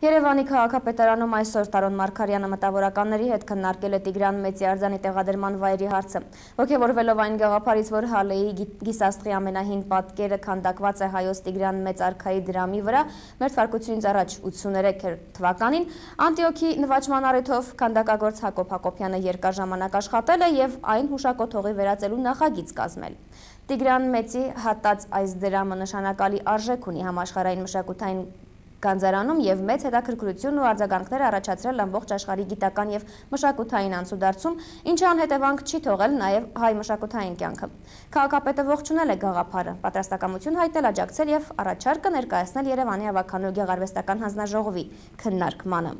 Երևանի քաղաքապետարանում այսօր Տարոն Մարգարյանը մտավորականների հետ քննարկել է Տիգրան Մեծի արձանի տեղադրման վայրի հարցը։ Ոգևորվելով այն գաղափարից, որ Հալեի գիսաստղի ամենահին պատկերը քանդակված է Հայոց Տիգրան Մեծ արքայի դրամի վրա, մերթվարկությունից առաջ 83 թվականին, Անտիոքի նվաճման առիթով քանդակագործ Հակոբ Հակոբյանը երկար ժամանակ աշխատել է և այն հուշակոթողի վերածելու նախագիծ կազմել։ Տիգրան Մեծի հատած այս դրամը նշանակալի արժեք ունի համաշխարհային մշակութային գանձարանում և մեծ հետաքրքրություն ու արձագանքներ առաջացրել ամբողջ աշխարհի գիտական և մշակութային անցուդարձում, ինչը անհետևանք չի թողել նաև հայ մշակութային կյանքը։ Քաղաքապետը ողջունել է գաղափարը, պատրաստակամություն հայտնել աջակցել և առաջարկը ներկայացնել Երևանի ավագանու գեղարվեստական հանձնաժողովի քննարկմանը։